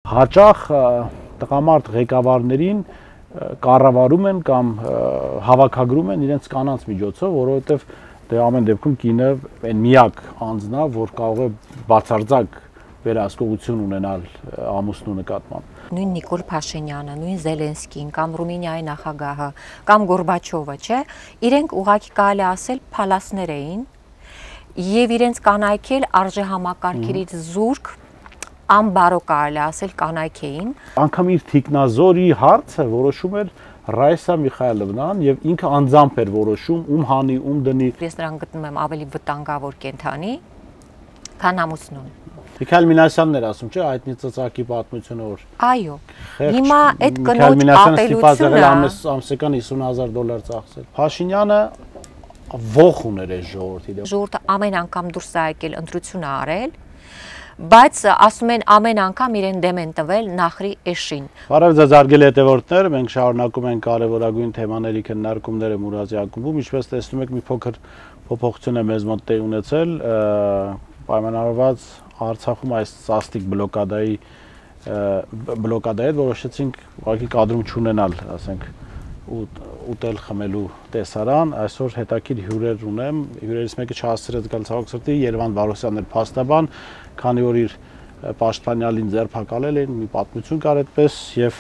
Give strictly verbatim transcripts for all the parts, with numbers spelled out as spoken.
Հաճախ տղամարդ ղեկավարներին կառավարում են կամ հավաքագրում են իրենց կանանց միջոցով, որովհետև դե ամեն դեպքում կինը այն միակ անձն է, որ կարող է բացարձակ վերահսկողություն ունենալ ամուսնու նկատմամբ։ Նույն Նիկոլ Փաշինյանը, նույն Զելենսկին, կամ Ռումինիայի նախագահը, կամ Գորբաչովը, չէ, իրենք ուղղակի կարելի ասել փալասներ էին եւ իրենց կանայք էլ արժեհամակարգերից զուրկ անբարո կարելի ասել կանայք էին։ Անկամ իր թիկնազորի հարցը որոշում էր Ռայսա Միխայելովնան եւ ինքը անձամբ էր որոշում ում հանի, ում դնի։ Ես նրան գտնում եմ ավելի վտանգավոր կենթանի, քան ամուսնուն։ Միքայել Մինասյանն էր ասում, չէ, հայտնի ծծակի պատմությունը որ։ Այո։ Հիմա այդ կնոջ ապելությունը ամսական հիսուն հազար դոլար ծախսել։ Փաշինյանը ողջ ուներ այս ժողովրդի դեմ։ Ժողովուրդը ամեն անգամ դուրս է եկել ընտրություն արել, բայց ասում են ամեն անգամ իրեն դեմ են տվել նախրի էշին։ Բարև ձեզ հարգելի հետևորդներ, մենք շարունակում ենք կարևորագույն թեմաների քննարկումները Մուրադի ակումբում, ինչպես տեսնում եք մի փոքր փոփոխություն է մեզ մոտ տեղի ունեցել, պայմանավորված Արցախում այս սաստիկ բլոկադայի բլոկադայի հետ որոշեցինք ուղղակի կադրում չունենալ, ասենք, ուտել խմելու տեսարան, այսօր հետաքրքիր հյուրեր ունեմ, հյուրերից մեկը չհասցրեց գալ ցավոք սրտի, Երևան Վարոսյանն էր փաստաբան, քանի որ իր պաշտպանյալին ձերբակալել էին, մի պատմություն կար այդպես, եւ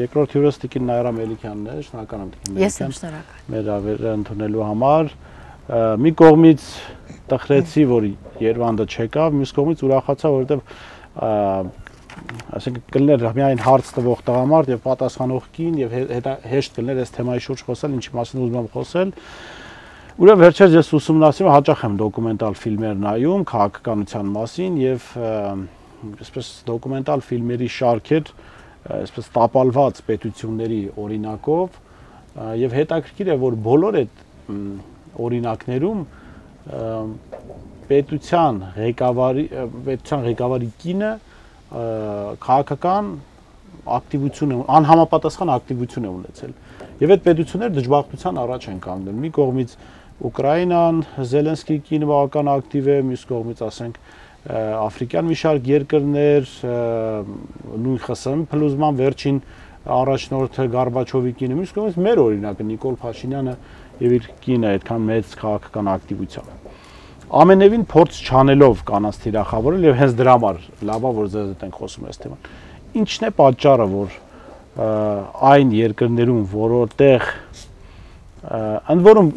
երկրորդ հյուրս Տիկին Նայրա Մելիքյանն է, շնորհակալ եմ Տիկին Մելիքյան։ Ես եմ շնորհակալ։ Մեր ավերը ընդունելու համար, մի կողմից տխրեցի, որ Երևանը չեկավ, մյուս կողմից ուրախացա, որովհետեւ ասենք կլներ միայն հարց տվող տղամարդ եւ պատասխանող կին եւ հեշտ կլներ այս թեմայի շուրջ խոսել, ինչի մասին ուզում եմ խոսել։ Ուրեմն վերջերս ես ուսումնասիրում հաճախ եմ դոկումենտալ ֆիլմեր նայում քաղաքականության մասին եւ այսպես դոկումենտալ ֆիլմերի շարքեր, այսպես տապալված պետությունների օրինակով եւ հետաքրքիր է, որ բոլոր այդ օրինակներում պետության ղեկավարի պետության ղեկավարի կինը քաղաքական ակտիվություն, անհամապատասխան ակտիվություն է ունեցել։ Եվ այդ պետությունները դժբախտության առաջ են կանգնել։ Մի կողմից Ուկրաինան, Զելենսկի կինը բավական ակտիվ է, մյուս կողմից ասենք աֆրիկյան մի շարք երկրներ, նույն ԽՍՀՄ փլուզման վերջին առաջնորդը Գորբաչովի կինը, մյուս կողմից մեր օրինակը Նիկոլ Փաշինյանը եւ իր կինը այդքան մեծ քաղաքական ակտիվությամբ։ Ամենևին փորձ չանելով կանանց թիրախավորել եւ հենց դրա համար լավ է որ ձեզ հետ ենք խոսում այս թեման։ Ինչն է պատճառը, որ այն երկրներում, որտեղ ընդ որում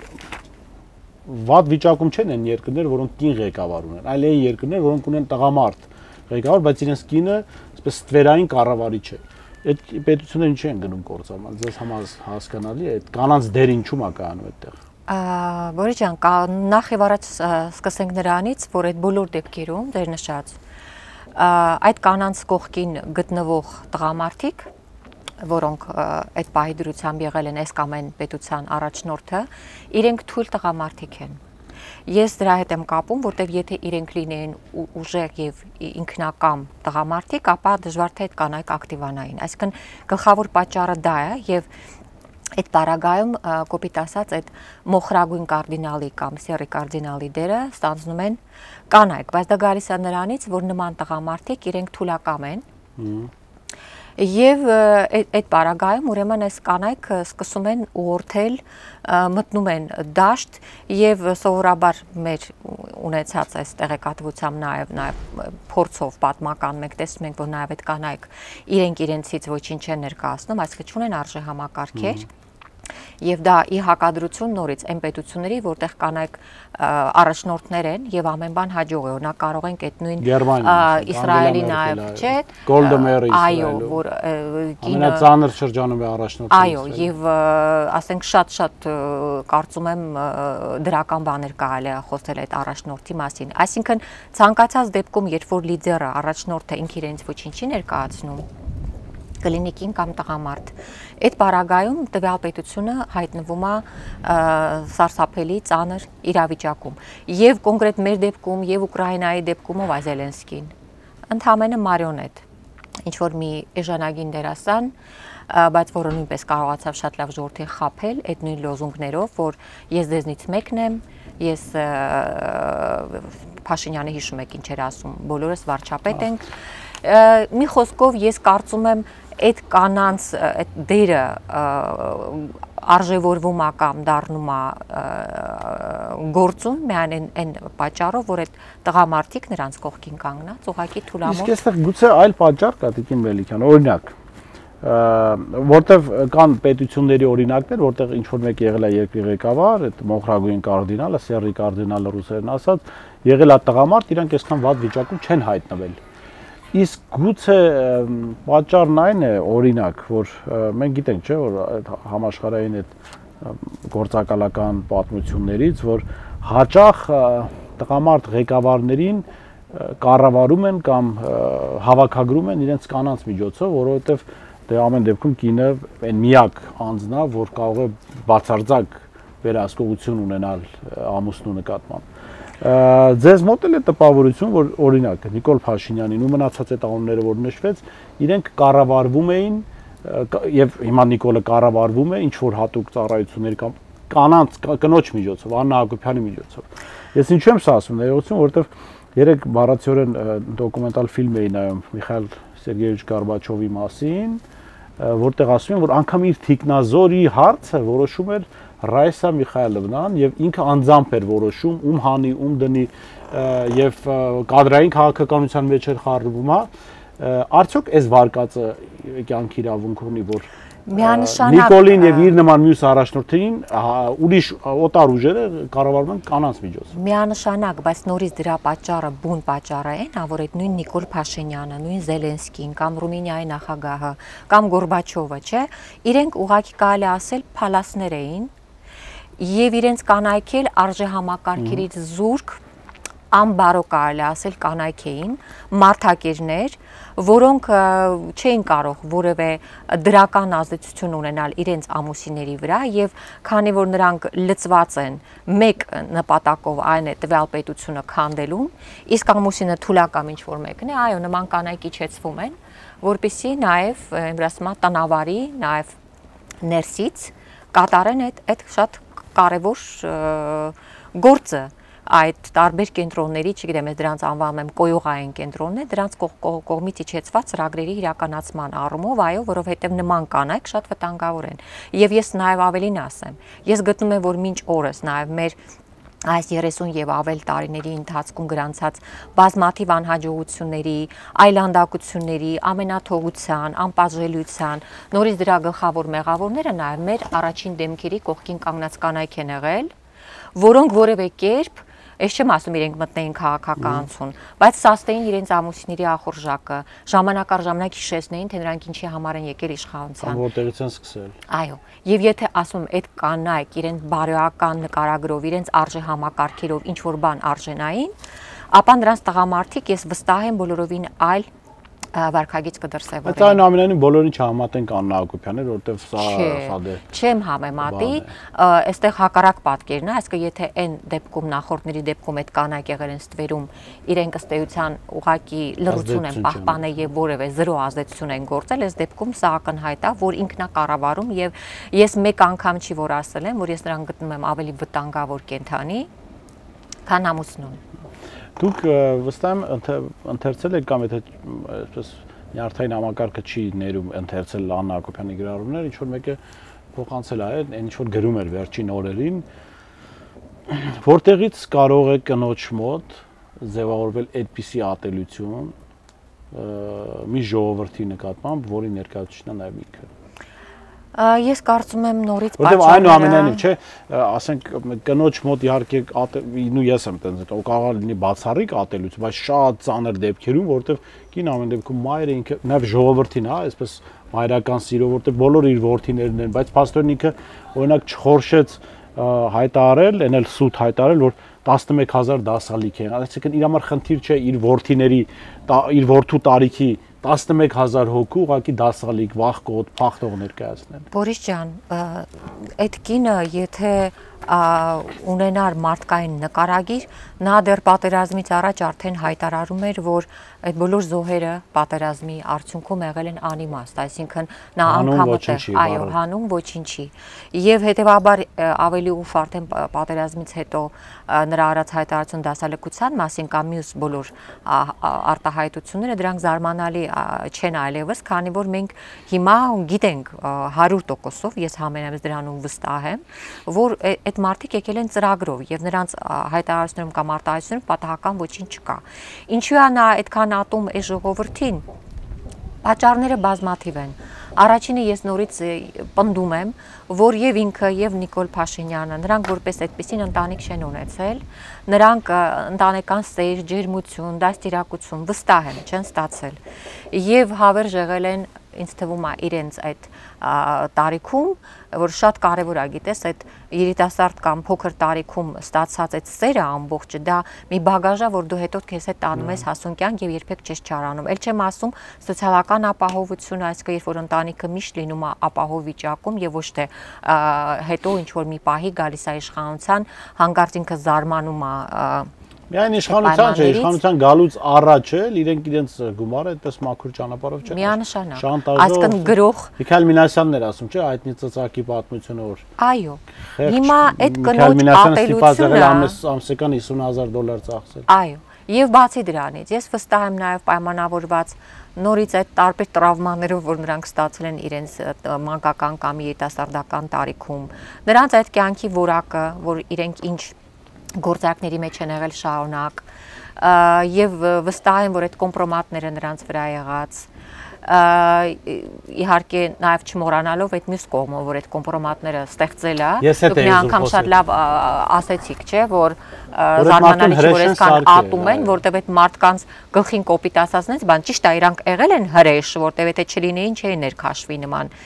վատ վիճակում չեն այն երկրներ, որոնք կին ղեկավար ունեն, այլ այն երկրներ, որոնք ունեն տղամարդ ղեկավար, բայց իրենց կինը այսպես ստվերային կառավարիչ է։ Այդ պետությունները ինչի են գնում կործանման, ձեզ համար հասկանալի է, այդ կանանց դեր ինչու՞ է կայանում այդտեղ։ Բորի ջան, նախ եւ առաջ սկսենք նրանից, որ այդ բոլոր դեպքերում դեր նշած այդ կանանց կողքին գտնվող տղամարդիկ, որոնք այդ պահի դրությամբ եղել են այս կամ այն պետության առաջնորդը, իրենք թույլ տղամարդիկ են։ Ես դրա հետ եմ կապում, որտեղ եթե իրենք լինեին ուժեղ եւ ինքնակամ տղամարդիկ, ապա դժվար թե այդ կանայք ակտիվանային։ Այսինքն գլխավոր պատճառը դա է եւ այդ պարագայում կոպիտ ասած այդ մոխրագույն կարդինալի կամ սեռի կարդինալի դերը ստանձնում են կանայք, բայց դա գալիս է նրանից, որ նման տղամարդիկ իրենք թուլակամ են եւ այդ պարագայում ուրեմն այս կանայք սկսում են ուղղորդել, մտնում են դաշտ եւ սովորաբար մեր ունեցած այս տեղեկատվությամբ նաեւ նաեւ փորձով պատմական մենք տեսնում ենք, որ նաեւ այդ կանայք իրենք իրենցից ոչինչ չեն ներկայացնում, այսինքն չունեն արժեհամակարգեր եւ դա ի հակադրություն նորից այն պետությունների, որտեղ կանայք առաջնորդներ են եւ ամեն բան հաջող է, օրինակ կարող ենք այդ նույն Իսրայելի նաեւ, չէ, Գոլդամերը Իսրայելը, այո, որ կինը ամենածանր շրջանում է առաջնորդը։ Այո, եւ ասենք շատ-շատ կարծում եմ դրական բաներ կարելի է խոսել այդ առաջնորդի մասին։ Այսինքն ցանկացած դեպքում, երբ որ լիդերը, առաջնորդը ինքը իրենց ոչինչ չի ներկայացնում, կլինի կին կամ տղամարդ։ Այդ պարագայում տվյալ պետությունը հայտնվում է սարսափելի ծանր իրավիճակում։ Եվ կոնկրետ մեր դեպքում, եւ Ուկրաինայի դեպքում ով է Զելենսկին։ Ընդհանրապես մարիոնետ, ինչ որ մի էժանագին դերասան, բայց որը նույնպես կարողացավ շատ լավ ժողովրդին խաբել այդ նույն լոզունգներով, որ ես դեզնից մեկն եմ, ես Փաշինյանը հիշում եք ինչ էր ասում, բոլորս վարչապետ ենք։ մի խոսքով ես կարծում եմ այդ կանանց այդ դերը արժևորվում է կամ դառնում է գործում միայն այն պատճառով, որ այդ տղամարդիկ նրանց կողքին կանգնած ուղղակի թուլամոլ։ Իսկ այստեղ գուցե այլ պատճառ կա, Տիկին Մելիքյան, օրինակ, որտեվ կան պետությունների օրինակներ, որտեղ ինչ որ մեկ եղել է երկրի ղեկավար, այդ մոխրագույն կարդինալը, Սեռի կարդինալը ռուսերեն ասած, եղել է տղամարդ, իրանք այսքան վատ վիճակում չեն հայտնվել։ Իսկ գուցե պատճառն այն է, օրինակ, որ մենք գիտենք, չէ, որ այդ համաշխարհային այդ գործակալական պատմություններից, որ հաճախ տղամարդ ղեկավարներին կառավարում են կամ հավաքագրում են իրենց կանանց միջոցով, որովհետև դե ամեն դեպքում կինը այն միակ անձն է, որ կարող է բացարձակ վերահսկողություն ունենալ ամուսնու նկատմամբ։ Ձեզ մոտ էլ է տպավորություն, որ օրինակ Նիկոլ Փաշինյանին ու մնացած այդ անունները, որ նշվեց, իրենք կառավարվում էին եւ հիմա Նիկոլը կառավարվում է ինչ որ հատուկ ծառայությունների կամ կանանց կնոջ միջոցով, Աննա Հակոբյանի միջոցով։ Ես ինչու եմ սա ասում, ներողություն, որովհետեւ երեք բառացիորեն դոկումենտալ ֆիլմ էի նայում Միխայիլ Սերգեյեվիչ Գորբաչովի մասին, որտեղ ասում են, որ անգամ իր թիկնազորի հարցը որոշում էր Ռայսա Միխայելովնան եւ ինքը անձամբ էր որոշում ում հանի, ում դնի եւ կադրային քաղաքականության մեջ էր խառնվում, հա։ Արդյոք այս վարկածը կյանքի իրավունք ունի, որ Նիկոլին եւ իր նման մյուս առաջնորդներին ուրիշ օտար ուժերը կառավարում են կանանց միջոցով։ Միանշանակ, բայց նորից դրա պատճառը, բուն պատճառը այն է, որ այդ նույն Նիկոլ Փաշինյանը, նույն Զելենսկին կամ Ռումինիայի նախագահը կամ Գորբաչովը, չէ, իրենք ուղղակի կարելի ասել փալասներ էին եւ իրենց կանայք էլ արժեհամակարգերից զուրկ անբարո կարելի ասել կանայք էին, մարդակերներ, որոնք չէին կարող որևէ դրական ազդեցություն ունենալ իրենց ամուսինների վրա եւ քանի որ նրանք լծված են մեկ նպատակով, այն է տվյալ պետությունը քանդելուն, իսկ ամուսինը թուլակամ ինչ որ մեկն է, այո, նման կանայք իջեցվում են, որպեսզի նաեւ ինքնասմա տնավարի, նաեւ ներսից կատարեն այդ այդ շատ կարևոր գործը այդ տարբեր կենտրոնների, չգիտեմ, ես դրանց անվանում եմ կոյուղային կենտրոններ, դրանց կողմից իջեցված ծրագրերի իրականացման առումով, այո, որովհետև նման կանայք շատ վտանգավոր են։ Եվ ես նաև ավելին ասեմ, ես գտնում եմ, որ մինչ օրս նաև մեր այս երեսուն եւ ավել տարիների ընթացքում գրանցած բազմաթիվ անհաջողությունների, այլանդակությունների, ամենաթողության, անպատժելիության, նորից դրա գլխավոր մեղավորները նաև մեր առաջին դեմքերի կողքին կանգնած կանայք են եղել, որոնք որևէ կերպ, ես չեմ ասում իրենք մտնեին քաղաքականություն, բայց սաստեին իրենց ամուսինների ախորժակը, ժամանակ առ ժամանակ հիշեցնեին, թե նրանք ինչի համար են եկել իշխանության։ Որտեղից են սկսել։ Այո, եւ եթե ասում այդ կանայք իրենց բարոյական նկարագրով, իրենց արժեհամակարգերով ինչ որ բան արժենային, ապա նրանց տղամարդիկ ես վստահ եմ բոլորովին այլ վարկագիծ կդրսևորեն։ Բայց այնուամենայնիվ բոլորին չհամատենք Աննա Հակոբյանին, որովհետև սա սա դե։ Չեմ համեմատի, այստեղ հակառակ պատկերն է, այսինքն եթե այն դեպքում նախորդների դեպքում այդ կանայք եղել են ստվերում, իրենք ըստ էության ուղղակի լռություն են պահպանել եւ որևէ զրո ազդեցություն են գործել, այս դեպքում սա ակնհայտ է, որ ինքնակառավարում եւ ես մեկ անգամ չի որ ասել եմ, որ ես նրան գտնում եմ ավելի վտանգավոր կենդանի, քան ամուսնուն։ Դուք վստահ եմ ընթերցել եք կամ եթե այսպես նյարդային համակարգը չի ներում ընթերցել Աննա Հակոբյանի գրառումները, ինչ որ մեկը փոխանցել է, այն ինչ որ գրում էր վերջին օրերին, որտեղից կարող է կնոջ մոտ ձևավորվել այդպիսի ատելություն մի ժողովրդի նկատմամբ, որի ներկայացուցիչն է նաև ինքը։ Ես կարծում եմ նորից պատճառները։ Որտեղ այնուամենայնիվ, չէ, ասենք կնոջ մոտ իհարկե նու ես եմ տենց կարող է լինի բացառիկ ատելություն, բայց շատ ծանր դեպքերում, որտեղ կին ամեն դեպքում մայրը ինքը նաև ժողովրդին, հա, այսպես մայրական սիրո, որտեղ բոլորը իր որդիներն են, բայց փաստորեն ինքը օրինակ չխորշեց հայտարարել, այն էլ սուտ հայտարարել, որ տասնմեկ հազար դասալիք են, այսինքն իր համար խնդիր չէ իր որդիների, իր որդու տարիքի տասնմեկ հազար հոգու ուղղակի դասալիք, վախկոտ, փախտող ներկայացնել։ Բորիս ջան, այդ կինը եթե ունենար մարդկային նկարագիր, նա դեռ պատերազմից առաջ արդեն հայտարարում էր, որ այդ բոլոր զոհերը պատերազմի արդյունքում եղել են անիմաստ, այսինքն նա անգամը այո, հանուն ոչինչի։ Եվ հետևաբար ավելի ուշ արդեն պատերազմից հետո նրա արած հայտարարություն դասալքության մասին կամ մյուս բոլոր արտահայտությունները դրանք զարմանալի չեն այլևս, քանի որ մենք հիմա գիտենք հարյուր տոկոսով, ես համենայնպես դրանում վստահ եմ, որ այդ մարդիկ եկել են ծրագրով եւ նրանց հայտարարություններում կամ արտահայտություններում պատահական ոչինչ չկա։ Ինչու է նա այդքան ատում է ժողովրդին։ Պատճառները բազմաթիվ են։ Առաջինը ես նորից պնդում եմ, որ եւ ինքը եւ Նիկոլ Փաշինյանը նրանք որպես այդպեսին ընտանիք չեն ունեցել, նրանք ընտանեկան սեր, ջերմություն, դաստիարակություն վստահ եմ չեն ստացել եւ հավերժ եղել են ինձ թվում է իրենց այդ տարիքում, որ շատ կարևոր է, գիտես, այդ երիտասարդ կամ փոքր տարիքում ստացած այդ սերը ամբողջը, դա մի բագաժ է, որ դու հետո քեզ հետ տանում ես հասուն կյանք եւ երբեք չես չարանում։ Էլ չեմ ասում սոցիալական ապահովությունը, այսինքն երբ որ ընտանիքը միշտ լինում է ապահով վիճակում եւ ոչ թե հետո ինչ որ մի պահի գալիս է իշխանության, հանկարծ ինքը զարմանում է Միայն իշխանության չէ, իշխանության գալուց առաջ էլ իրենք իրենց գումարը այդպես մաքուր ճանապարհով չեն։ Միանշանակ։ Այսինքն գրող Միքայել Մինասյանն էր ասում, չէ, հայտնի ծծակի պատմությունը որ։ Այո։ Հիմա այդ կնոջ ապելությունը ամսական հիսուն հազար դոլար ծախսել։ Այո։ Եվ բացի դրանից, ես վստահ եմ նաև պայմանավորված նորից այդ տարբեր տրավմաներով, որ նրանք ստացել են իրենց մանկական կամ երիտասարդական տարիքում, նրանց այդ կյանքի որակը, որ իրենք ինչ գործակների մեջ են եղել շարունակ եւ վստահ եմ, որ այդ կոմպրոմատները նրանց վրա եղած իհարկե նաև չմոռանալով այդ մյուս կողմը, որ այդ կոմպրոմատները ստեղծել է, դուք մի անգամ շատ լավ ասեցիք, չէ, որ զարմանալի չէ, որ այսքան ատում են, որտեվ այդ մարդկանց գլխին կոպիտ ասածնից, բան ճիշտ է, իրանք եղել են հրեշ, որտեվ եթե չլինեին չէին ներքաշվի նման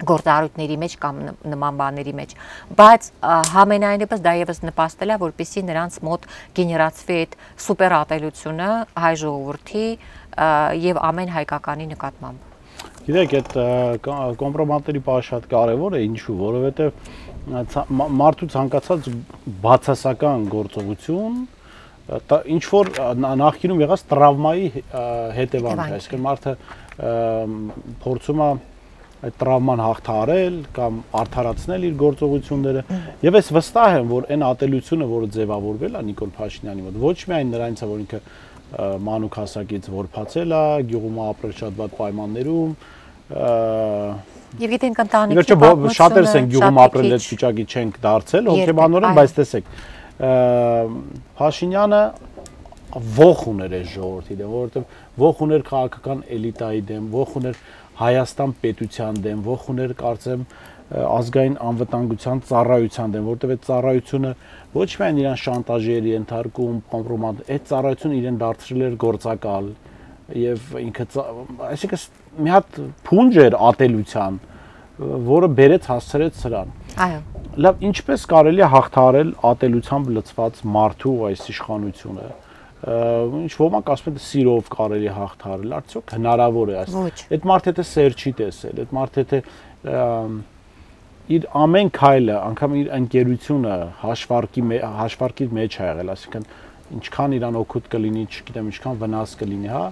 գործառույթների մեջ կամ նման բաների մեջ, բայց համենայնիվս դա եւս նպաստել է, որպեսզի նրանց մոտ գեներացվի այդ սուպեր ատելությունը հայ ժողովրդի եւ ամեն հայկականի նկատմամբ։ Գիտեք, այդ կոմպրոմատների պահը շատ կարևոր է, ինչու, որովհետեւ մարդու ցանկացած բացասական գործողություն ինչ որ նախկինում եղած տրավմայի հետևանք է, այսինքն մարդը փորձում է այդ տրավման հաղթահարել կամ արդարացնել իր գործողությունները եւ ես վստահ եմ, որ այն ատելությունը, որը ձևավորվել է Նիկոլ Փաշինյանի մոտ, ոչ միայն նրանից է, որ ինքը մանուկ հասակից որփացել է, գյուղում ապրել շատ վատ պայմաններում, եւ գիտենք ընտանիքի պատմությունը, շատերս են գյուղում ապրել այդ վիճակի չենք դարձել, հոգեբանորեն, բայց տեսեք, Փաշինյանը ոխ ուներ այս ժողովրդի դեմ, որովհետեւ ոխ ուներ քաղաքական էլիտայի դեմ, ոխ ուներ Հայաստան պետության դեմ, ոխ ուներ կարծեմ ազգային անվտանգության ծառայության դեմ, որտեղ այդ ծառայությունը ոչ միայն իրան շանտաժի էր ենթարկում, կոմպրոմատ, այդ ծառայությունը իրեն դարձրել էր գործակալ եւ ինքը, այսինքն մի հատ փունջ էր ատելության, որը բերեց հասցրեց սրան։ Այո։ Լավ, ինչպես կարելի է հաղթահարել ատելությամբ լցված մարդու այս իշխանությունը։ Ինչ ոմանք ասում են սիրով կարելի է հաղթահարել, արդյոք հնարավոր է այս։ Այդ մարդը թե սեր չի տեսել, այդ մարդը թե իր ամեն քայլը, անգամ իր ընկերությունը հաշվարկի հաշվարկի մեջ է եղել, այսինքն ինչքան իրան օգուտ կլինի, չգիտեմ, ինչքան վնաս կլինի, հա։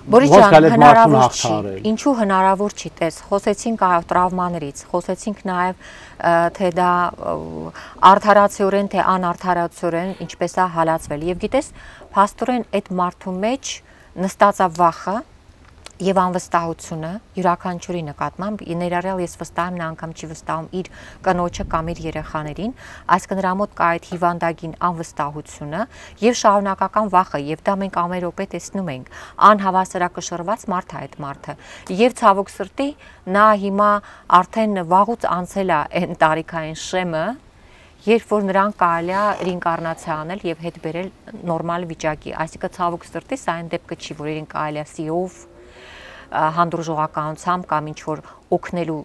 Բորիս ջան, հնարավոր չի։ Ինչու հնարավոր չի, տես, խոսեցինք այո տրավմաներից, խոսեցինք նաև թե դա արդարացիորեն, թե անարդարացիորեն ինչպես է հալածվել։ Եվ գիտես, փաստորեն այդ մարդու մեջ նստած է վախը եւ անվստահությունը յուրաքանչյուրի նկատմամբ, ներառյալ ես վստահ եմ, նա անգամ չի վստահում իր կնոջը կամ իր երեխաներին, այսինքն նրա մոտ կա այդ հիվանդագին անվստահությունը եւ շարունակական վախը, եւ դա մենք ամեն րոպե տեսնում ենք, անհավասարակշռված մարդ է այդ մարդը, եւ ցավոք սրտի նա հիմա արդեն վաղուց անցել է այն տարիքային շեմը, երբ որ նրան կարելի է ռինկարնացիա անել եւ հետ բերել նորմալ վիճակի, այսինքն ցավոք սրտի սա այն դեպքը չի, որ իրեն կարելի է սիով հանդուրժողականությամբ կամ ինչ որ օգնելու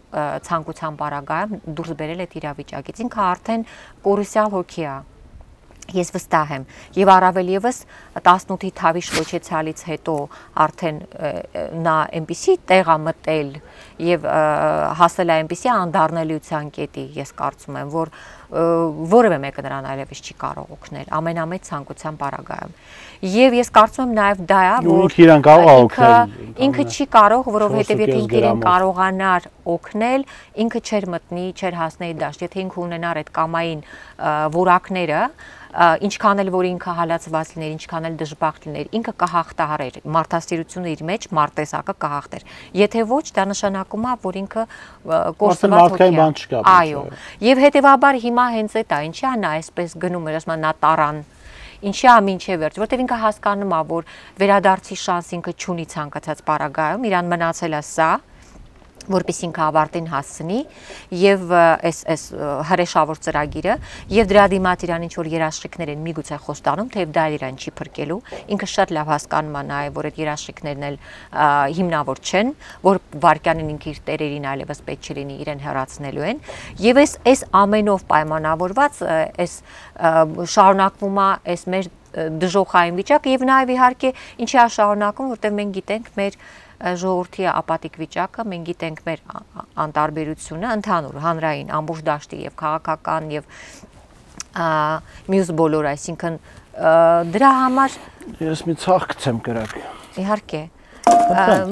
ցանկության պարագայում դուրս բերել այդ իրավիճակից։ Ինքը արդեն կորուսյալ հոգի է։ Ես վստահ եմ եւ առավել եւս տասնութի թավի շլոչեցալից հետո արդեն նա այնպիսի տեղ է մտել եւ հասել է այնպիսի անդառնելիության կետի, ես կարծում եմ, որ որևէ մեկը նրան այլևս չի կարող օգնել ամենամեծ ցանկության պարագայում։ Եվ ես կարծում եմ նաեւ դա է, որ իրան կարող է օգնել, ինքը չի կարող, որովհետեւ եթե ինքը իրեն կարողանար օգնել, ինքը չէր մտնի, չէր հասնի դաշտ, եթե ինքը ունենար այդ կամային որակները, ինչքան էլ որ ինքը հալածված լիներ, ինչքան էլ դժբախտ լիներ, ինքը կհաղթահարեր, մարդասիրությունը իր մեջ մարտեսակը կհաղթեր։ Եթե ոչ, դա նշանակում է, որ ինքը կորսված հոգի է։ Այո։ Եվ հետեւաբար հիմա հենց այդ է, ինչի է նա այսպես գնում էր, ասում է նա տարան, ինչի է մինչև վերջ, որտեղ ինքը հասկանում է, որ վերադարձի շանս ինքը չունի ցանկացած պարագայում, իրան մնացել է սա, որպես ինքը ավարտին հասցնի եւ այս այս հրեշավոր ծրագիրը եւ դրա դիմաց իրան ինչ որ երաշխիքներ են միգուցե խոստանում, թեև դա իրան չի փրկելու, ինքը շատ լավ հասկանում է նաեւ, որ այդ երաշխիքներն էլ հիմնավոր չեն, որ վարքյանին ինքը իր տերերին այլևս պետք չլինի իրեն հեռացնելու են եւ այս այս ամենով պայմանավորված այս շարունակվում է այս մեր դժոխային վիճակը եւ նաեւ իհարկե ինչի է շարունակում, որտեղ մենք գիտենք մեր ժողովրդի ապատիկ վիճակը, մենք գիտենք մեր անտարբերությունը ընդհանուր հանրային ամբողջ դաշտի եւ քաղաքական եւ մյուս բոլոր, այսինքն դրա համար ես մի ցախ գցեմ կրակ։ Իհարկե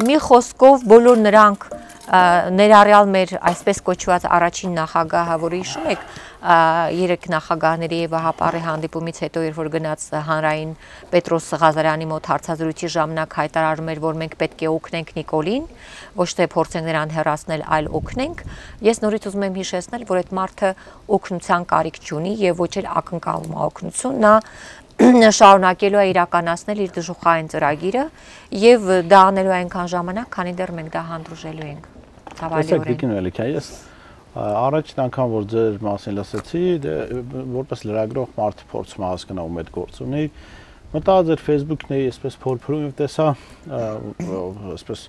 մի խոսքով բոլոր նրանք ներառյալ մեր այսպես կոչված առաջին նախագահը, որը հիշում եք երեք նախագահների եւ Վահապարի հանդիպումից հետո, երբ որ գնաց հանրային Պետրոս Ղազարյանի մոտ հարցազրույցի ժամանակ հայտարարում էր, որ մենք պետք է օգնենք Նիկոլին, ոչ թե փորձենք նրան հեռացնել, այլ օգնենք, ես նորից ուզում եմ հիշեցնել, որ այդ մարդը օգնության կարիք չունի եւ ոչ էլ ակնկալում է օգնություն, նա շարունակելու է իրականացնել իր դժոխային ծրագիրը եւ դա անելու է այնքան ժամանակ, քանի դեռ մենք դա հանդուրժելու ենք։ Ցավալիորեն։ Առաջին անգամ որ ձեր մասին լսեցի, որպես լրագրող մարդը փորձում է հասկանալ ում այդ գործ ունի, մտա ձեր Facebook-ների այսպես փորփրում եւ տեսա այսպես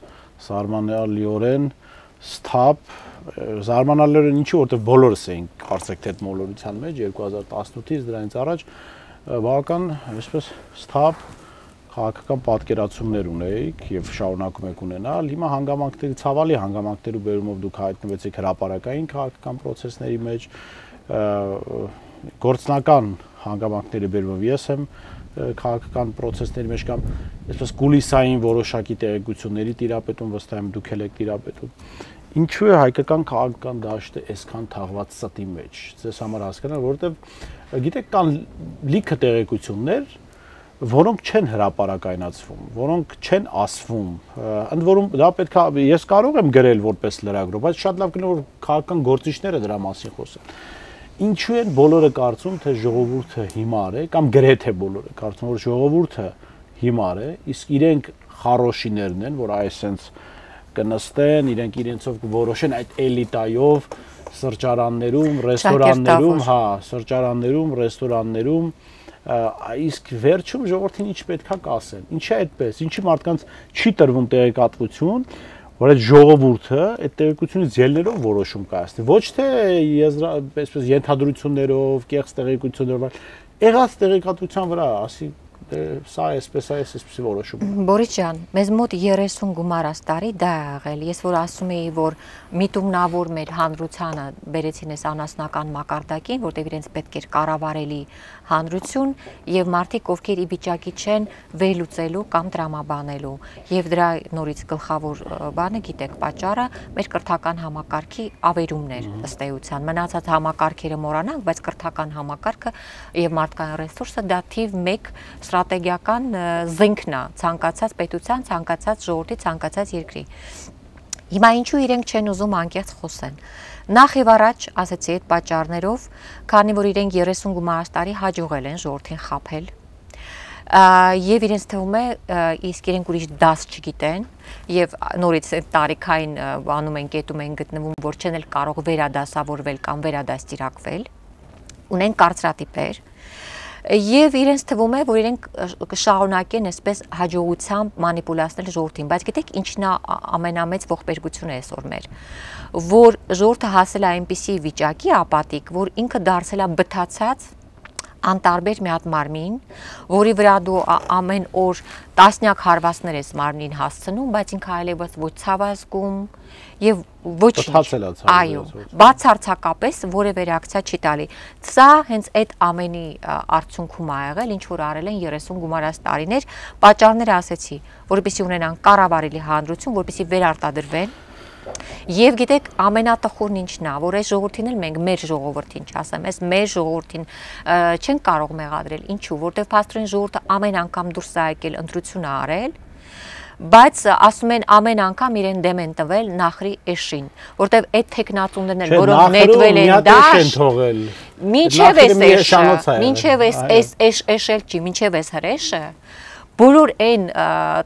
զարմանալիորեն սթափ, զարմանալիորեն ինչի որտեղ բոլորս էինք կարծեք թե այդ մոլորության մեջ երկու հազար տասնութից դրանից առաջ բավական այսպես սթափ քաղաքական պատկերացումներ ունեիք եւ շարունակում եք ունենալ։ Հիմա հանգամանքների ցավալի հանգամանքների բերումով դուք հայտնվեցիք հրապարակային քաղաքական process-ների մեջ, գործնական հանգամանքների բերումով ես եմ քաղաքական process-ների մեջ կամ այսպես կուլիսային որոշակի տեղեկությունների տիրապետում վստահ եմ դուք եք տիրապետում։ Ինչու է հայկական քաղաքական դաշտը այսքան թաղված ստի մեջ։ Ձեզ համար հասկանալ, որովհետեւ գիտեք կան լիքը տեղեկություններ, որոնք չեն հրապարակայնացվում, որոնք չեն ասվում, ընդ որում դա պետք է ես կարող եմ գրել որպես լրագրող, բայց շատ լավ կլինի որ քաղաքական գործիչները դրա մասին խոսեն։ Ինչու են բոլորը կարծում, թե ժողովուրդը հիմար է, կամ գրեթե բոլորը կարծում որ ժողովուրդը հիմար է, իսկ իրենք խարոշիներն են, որ այսպես կնստեն, իրենք իրենցով կորոշեն այդ էլիտայով սրճարաններում, ռեստորաններում, հա, սրճարաններում, ռեստորաններում իսկ վերջում ժողովրդին ինչ պետքա կասեն։ Ինչի է այդպես, ինչի մարդկանց չի տրվում տեղեկատվություն, որ այդ ժողովուրդը այդ տեղեկությունից ելներով որոշում կայացնի, ոչ թե այսպես ենթադրություններով, կեղծ տեղեկություններով, եղած տեղեկատվության վրա, ասի սա էսպես է, էսպես որոշում։ Բորիս ջան, մեզ մոտ երեսուն գումարած տարի դա է եղել։ Ես որ ասում էի, որ միտումնավոր մեր հանրությանը բերեցին այս անասնական մակարդակին, որտեղ իրենց պետք էր կառավարելի հանրություն եւ մարդիկ, ովքեր ի վիճակի չեն վերլուծելու կամ տրամաբանելու։ Եվ դրա նորից գլխավոր բանը, գիտեք, պատճառը մեր կրթական համակարգի ավերումն էր ըստ էության։ Մնացած համակարգերը մոռանանք, բայց կրթական համակարգը եւ մարդկային ռեսուրսը դա թիվ մեկ ստրատեգիական զենքն է ցանկացած պետության, ցանկացած ժողովրդի, ցանկացած երկրի։ Հիմա ինչու իրենք չեն ուզում անկեղծ խոսեն։ Նախ եւ առաջ ասացի այդ պատճառներով, քանի որ իրենք երեսուն գումարած տարի հաջողել են ժողովրդին խաբել։ Եվ իրենց թվում է իսկ իրենք ուրիշ դաս չգիտեն եւ նորից այդ տարիքային անում են կետում են գտնվում, որ չեն էլ կարող վերադասավորվել կամ վերադաստիարակվել։ Ունեն կարծրատիպեր եւ իրենց թվում է, որ իրենք կշարունակեն այսպես հաջողությամբ մանիպուլացնել ժողովրդին, բայց գիտեք ինչն է ամենամեծ ողբերգությունը այսօր մեր, որ ժողովուրդը հասել է այնպիսի վիճակի ապատիկ, որ ինքը դարձել է բթացած անտարբեր մի հատ մարմին, որի վրա դու ամեն օր տասնյակ հարվածներ ես մարմնին հասցնում, բայց ինքը այլևս ոչ ցավ ազգում եւ ոչինչ։ Այո, բացարձակապես որևէ ռեակցիա չի տալի։ Սա հենց այդ ամենի արդյունքում ա եղել, ինչ որ արել են երեսուն գումարած տարիներ, պատճառները ասեցի, որպեսզի ունենան կառավարելի հանրություն, որպեսզի վերարտադրվեն։ Եվ գիտեք, ամենատխուրն ինչն է, որ այս ժողովրդին էլ մենք մեր ժողովրդին չասեմ, այս մեր ժողովրդին չեն կարող մեղադրել, ինչու, որտեվ փաստորեն ժողովուրդը ամեն անգամ դուրս է եկել ընտրություն արել, բայց ասում են ամեն անգամ իրեն դեմ են տվել նախրի էշին, որտեվ այդ տեխնատուններն են, որոնք նետվել են դաշտ, մինչև այս էշը, մինչև այս էշել չի, մինչև այս հրեշը, բոլոր այն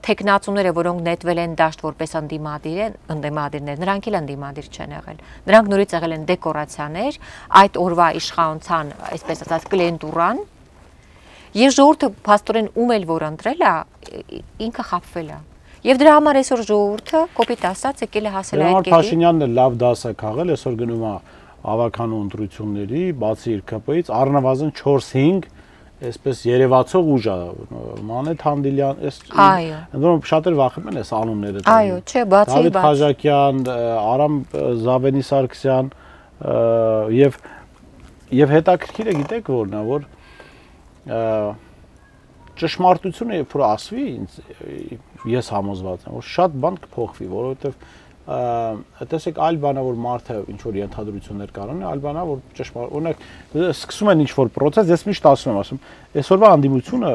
տեխնատուները, որոնք նետվել են դաշտ որպես ընդդիմադիր, ընդդիմադիրներ, նրանք էլ ընդդիմադիր չեն եղել։ Նրանք նորից եղել են դեկորացիաներ, այդ օրվա իշխանության, այսպես ասած, կլիենտուրան, եւ ժողովուրդը փաստորեն ում էլ որ ընտրել է, ինքը խաբվել է։ Եվ դրա համար այսօր ժողովուրդը կոպիտ ասած եկել է հասել այդ կետին։ Փաշինյանն էլ լավ դաս է քաղել, այսօր գնում է ավականու ընտրությունների, բացի իր ԿՊ-ից, առնվազն չորս-հինգ այսպես երևացող ուժ է, Մանեթ Հանդիլյան, այս ընդդեմ շատեր վախենում են այս անունները։ Այո, չէ, բացի Դավիթ Խաչակյան, Արամ Զավենի Սարգսյան եւ եւ հետաքրքիրը գիտեք որն է, որ ճշմարտությունը երբ որ ասվի, ես համոզված եմ, որ շատ բան կփոխվի, որովհետեւ տեսեք այլ բանա որ մարդը ինչ որ ենթադրություններ կարողանա, այլ բանա որ ճշմարիտ, օրինակ սկսում են ինչ որ process, ես միշտ ասում եմ, ասում, այսօրվա հանդիմությունը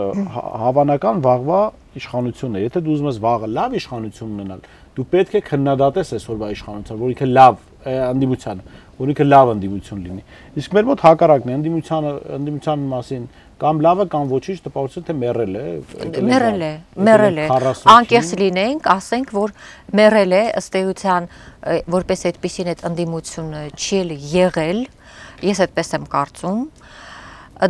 հավանական վաղվա իշխանությունն է, եթե դու ուզում ես վաղը լավ իշխանություն ունենալ, դու պետք է քննադատես այսօրվա իշխանությունը, որ ինքը լավ հանդիմությանը, որ ինքը լավ հանդիմություն լինի։ Իսկ մեր մոտ հակառակն է, հանդիմությանը, հանդիմության մասին կամ լավը կամ ոչինչ տպավորություն թե մեռել է, մեռել է, մեռել է, անկեղծ լինենք, ասենք, որ մեռել է, ըստ էության, որպես այդպեսին այդ ընդդիմությունը չի եղել, ես այդպես եմ կարծում,